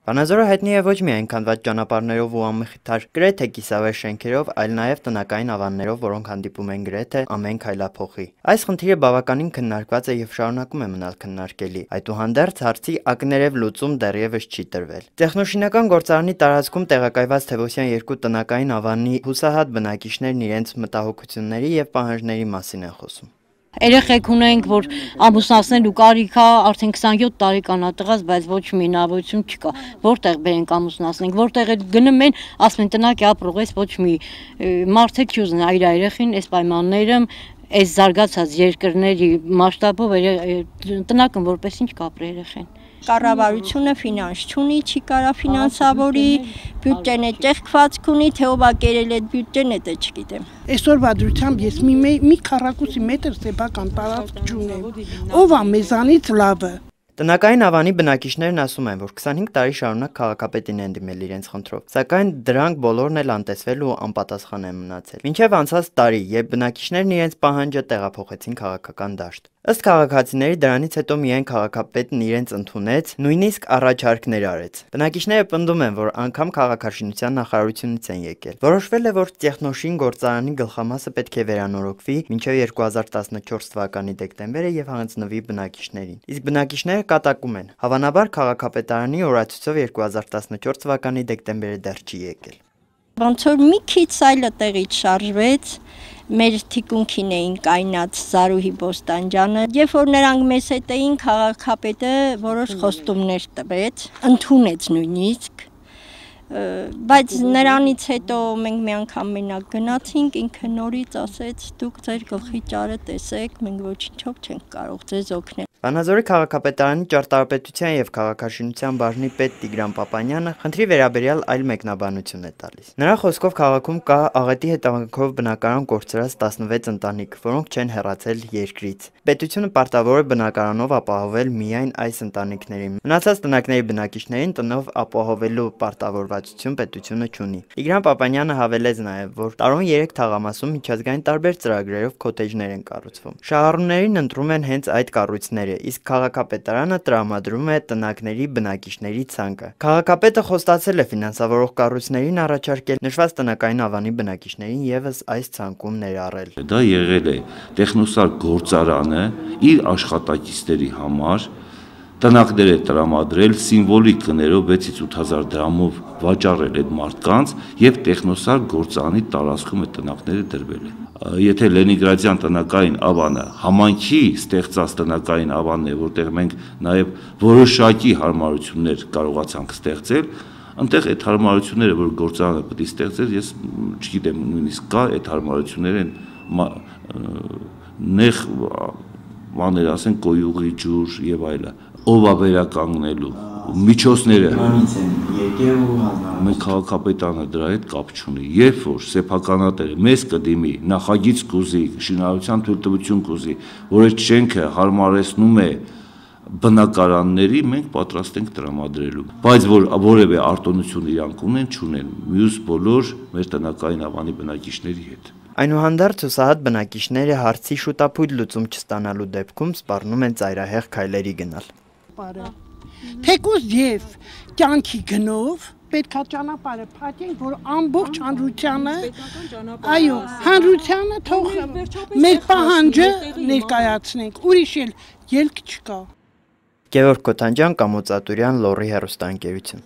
Վանաձորը հայտնի է ոչ միայն քանդված ճանապարհներով ու անմխիթար գրեթե կիսավեր շենքերով, այլ նաև տնական ավաններով, որոնք հանդիպում են գրեթե ամեն քայլափոխի։ Այս խնդիրը բավականին քննարկված է եւ շարունակում է մնալ քննարկելի։ Այդուհանդերձ հարցի ակներև լուծում դեռևս չի տրվել։ Տեխնոշինական գործարանի տարածքում տեղակայված Թևոսյան 2 տնական ավանի հուսահատ բնակիչներն իրենց մտահոգությունների եւ պահանջների մասին են խոսում։ Երեխեք ունենք, որ ամուսնացնելու կարիք է, արդեն 27 տարեկան է տղաս, բայց ոչ մի հնարավորություն չկա։ Որտեղ բերենք ամուսնացնենք, որտեղ էլ գնում են, ասում են տնակ ապրող ես, ոչ մի մարդ էլ չի ուզենա իր երեխին այս պայմաններում, այս զարգացած երկրների մասշտաբով տնակն որպես ինչ կապրի երեխին։ Կառավարությունը ֆինանս չունի, չի կարա ֆինանսավորի, բյուջեն է ճեղքվածք ունի, թե ով է կերել այդ բյուջեն, դա չգիտեմ։ Այսօրվա դրությամբ ես մի քառակուսի մետր սեփական տարածք չունեմ։ Ով է մեզանից լավը։ Տնական ավանի բնակիչներն ասում են, որ 25 տարի շարունակ քաղաքապետին են դիմել իրենց խնդրով, սակայն դրանք բոլորն էլ անտեսվել ու անպատասխան են մնացել։ Մինչև անցած տարի, երբ բնակիչներն իրենց պահանջը տեղափոխեցին քաղաքական դաշտ։ Ըստ քաղաքացիների դրանից հետո միայն քաղաքապետն իրենց ընդունեց, նույնիսկ առաջարկներ արեց։ Բնակիչները պնդում են, որ անգամ քաղաքաշինության նախարարությունից են եկել։ Որոշվել է, որ տեխնոշին գործարանի գլխամասը պետք է վերանորոգվի մինչև 2014 թվականի դեկտեմբերը եւ հանձնվի բնակիչներին։ Իսկ բնակիչները կատակում են, հավանաբար քաղաքապետարանի օրացույցով 2014 թվականի դեկտեմբերը դեռ չի եկել։ Ոնց որ մի քիչ այլը տեղից շարժվեց, մեր թիկունքին էին կայնած Զարուհի Բոստանջանը, երբ որ նրանք մեզ հետ էին, քաղաքապետը որոշ խոստումներ տվեց, ընդունեց նույնիսկ, բայց նրանից հետո մենք մի անգամ մենակ գնացինք, ինքը նորից ասեց, դուք ձեր գլխի ճարը տեսեք, մենք ոչինչով չենք կարող ձեզ օգնել։ Վանաձորի քաղաքապետարանի ճարտարապետության եւ քաղաքաշինության բաժնի պետ Տիգրան Պապանյանը խնդրի վերաբերյալ այլ մեկնաբանություն է տալիս։ Նրա խոսքով քաղաքում կա աղետի հետևանքով բնակարան կորցրած 16 ընտանիք, որոնք չեն հեռացել երկրից։ Պետությունը պարտավոր է բնակարանով ապահովել միայն այս ընտանիքներին։ Մնացած տնակների բնակիչներին տնով ապահովելու պարտավորվածություն պետությունը չունի։ Տիգրան Պապանյանը հավելեց նաեւ, որ տարուն 3 թաղամասում միջազգային տարբեր ծրագրերով քոթեջներ են կառուցվում։ Շահառուներին ընտրում են հենց այդ կառույցները, իսկ քաղաքապետարանը տրամադրում է տնակների բնակիչների ցանկը։ Քաղաքապետը խոստացել է ֆինանսավորող կառույցներին առաջարկել նշված տնական ավանի բնակիչներին եւս այս ցանկում ներառել։ Դա եղել է տեխնոսար գործարանը իր աշխատակիցների համար տնակներ է տրամադրել սիմվոլիկ գներով 6-ից 8000 դրամով վաճառել այդ մարդկանց եւ տեխնոսար գործարանի տարածքում է տնակները դրվել է։ Եթե Լենինգրադյան տնական ավանը համայնքի ստեղծած տնական ավանն է, որտեղ մենք նաեւ որոշակի հարմարություններ կարողացանք ստեղծել, այնտեղ այդ հարմարությունները, որ գործարանը պետք է ստեղծեր, ես չգիտեմ, նույնիսկ կա այդ հարմարությունները նեղ բաներ, ասեն կոյուղի ջուր եւ այլն, ով է վերականգնելու միջոցները մենք քաղաքապետարանը դրա հետ կապ չունի, երբ որ սեփականատերը մեզ կդիմի նախագիծ կուզի, շինարարության թույլտվություն կուզի, որ այդ շենքը հարմարեցնում է բնակարանների, մենք պատրաստ ենք տրամադրելու, բայց որ որևէ արտոնություն իրանք չունեն մյուս բոլոր մեր տնական ավանի բնակիչների հետ։ Այնուհանդերձ հուսահատ բնակիչները հարցի շուտապույտ լուծում չստանալու դեպքում սպառնում են ծայրահեղ քայլերի գնալ։ Թեկուզ եւ կյանքի գնով պետք է ճանապարհը փակենք, որ ամբողջ հանրությանը, այո, հանրությանը թող մեր պահանջը ներկայացնենք, ուրիշ էլ ելք չկա։ Գևորգ Քոթանջյան, Կամո Ծատուրյան, Լոռի հեռուստաընկերություն։